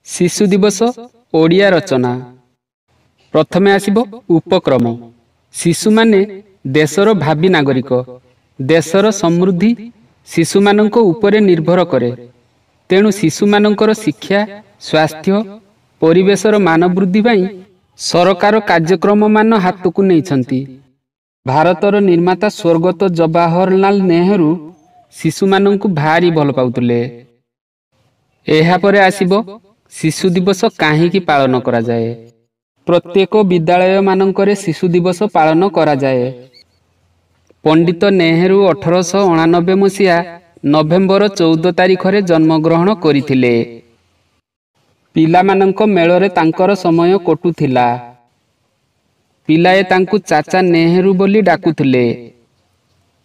ଶିଶୁ ଦିବସ ଓଡ଼ିଆ ରଚନା। ପ୍ରଥମେ ଆସିବ ଉପକ୍ରମ। ଶିଶୁମାନେ ଦେଶର ଭାବି ନାଗରିକ। ଦେଶର ସମୃଦ୍ଧି ଶିଶୁମାନଙ୍କ ଉପରେ ନିର୍ଭର କରେ। ତେଣୁ ଶିଶୁମାନଙ୍କର ଶିକ୍ଷା, ସ୍ୱାସ୍ଥ୍ୟ, ପରିବେଶର ମାନ ବୃଦ୍ଧି ପାଇଁ ସରକାର କାର୍ଯ୍ୟକ୍ରମମାନ ହାତକୁ ନେଇଛନ୍ତି। ଭାରତର ନିର୍ମାତା ସ୍ୱର୍ଗତ ଜବାହରଲାଲ ନେହେରୁ ଶିଶୁମାନଙ୍କୁ ଭାରି ଭଲ ପାଉଥିଲେ। ଏହାପରେ ଆସିବ ଶିଶୁ ଦିବସ କାହିଁକି ପାଳନ କରାଯାଏ। ପ୍ରତ୍ୟେକ ବିଦ୍ୟାଳୟମାନଙ୍କରେ ଶିଶୁ ଦିବସ ପାଳନ କରାଯାଏ। ପଣ୍ଡିତ ନେହେରୁ 1889 ମସିହା ନଭେମ୍ବର 14 ତାରିଖରେ ଜନ୍ମଗ୍ରହଣ କରିଥିଲେ। ପିଲାମାନଙ୍କ ମେଳରେ ତାଙ୍କର ସମୟ କଟୁଥିଲା। ପିଲାଏ ତାଙ୍କୁ ଚାଚା ନେହେରୁ ବୋଲି ଡାକୁଥିଲେ।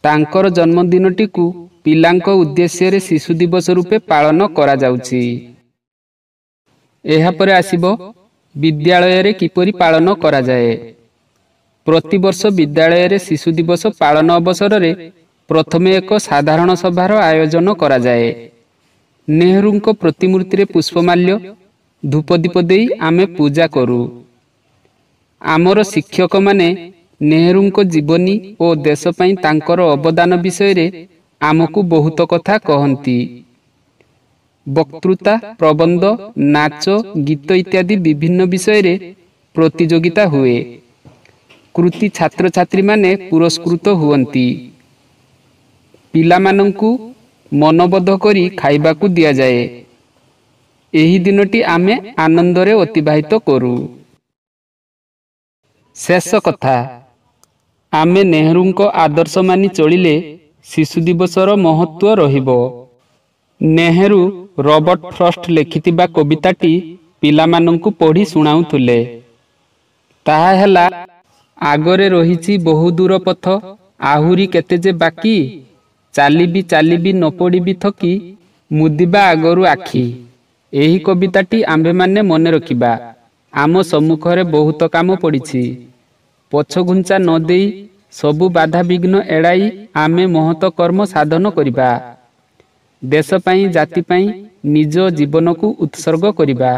ତାଙ୍କର ଜନ୍ମଦିନଟିକୁ ପିଲାଙ୍କ ଉଦ୍ଦେଶ୍ୟରେ ଶିଶୁ ଦିବସ ରୂପେ ପାଳନ କରାଯାଉଛି। ଏହାପରେ ଆସିବ ବିଦ୍ୟାଳୟରେ କିପରି ପାଳନ କରାଯାଏ। ପ୍ରତିବର୍ଷ ବିଦ୍ୟାଳୟରେ ଶିଶୁ ଦିବସ ପାଳନ ଅବସରରେ ପ୍ରଥମେ ଏକ ସାଧାରଣ ସଭାର ଆୟୋଜନ କରାଯାଏ। ନେହେରୁଙ୍କ ପ୍ରତିମୂର୍ତ୍ତିରେ ପୁଷ୍ପମାଲ୍ୟ, ଧୂପଦୀପ ଦେଇ ଆମେ ପୂଜା କରୁ। ଆମର ଶିକ୍ଷକମାନେ ନେହେରୁଙ୍କ ଜୀବନୀ ଓ ଦେଶ ପାଇଁ ତାଙ୍କର ଅବଦାନ ବିଷୟରେ ଆମକୁ ବହୁତ କଥା କହନ୍ତି। ବକ୍ତୃତା, ପ୍ରବନ୍ଧ, ନାଚ, ଗୀତ ଇତ୍ୟାଦି ବିଭିନ୍ନ ବିଷୟରେ ପ୍ରତିଯୋଗିତା ହୁଏ। କୃତି ଛାତ୍ରଛାତ୍ରୀମାନେ ପୁରସ୍କୃତ ହୁଅନ୍ତି। ପିଲାମାନଙ୍କୁ ମନବୋଧ କରି ଖାଇବାକୁ ଦିଆଯାଏ। ଏହି ଦିନଟି ଆମେ ଆନନ୍ଦରେ ଅତିବାହିତ କରୁ। ଶେଷ କଥା, ଆମେ ନେହେରୁଙ୍କ ଆଦର୍ଶ ମାନି ଚଳିଲେ ଶିଶୁ ଦିବସର ମହତ୍ତ୍ୱ ରହିବ। ନେହେରୁ ରବର୍ଟ ଫ୍ରଷ୍ଟ ଲେଖିଥିବା କବିତାଟି ପିଲାମାନଙ୍କୁ ପଢ଼ି ଶୁଣାଉଥିଲେ। ତାହା ହେଲା, ଆଗରେ ରହିଛି ବହୁ ଦୂର ପଥ, ଆହୁରି କେତେ ଯେ ବାକି, ଚାଲିବି ଚାଲିବି ନ ପଡ଼ିବି ଥକି, ମୁଦିବା ଆଗରୁ ଆଖି। ଏହି କବିତାଟି ଆମ୍ଭେମାନେ ମନେ ରଖିବା। ଆମ ସମ୍ମୁଖରେ ବହୁତ କାମ ପଡ଼ିଛି। ପଛଘୁଞ୍ଚା ନ ଦେଇ ସବୁ ବାଧାବିଘ୍ନ ଏଡ଼ାଇ ଆମେ ମହତ କର୍ମ ସାଧନ କରିବା। ଦେଶ ପାଇଁ, ଜାତି ପାଇଁ ନିଜ ଜୀବନକୁ ଉତ୍ସର୍ଗ କରିବା।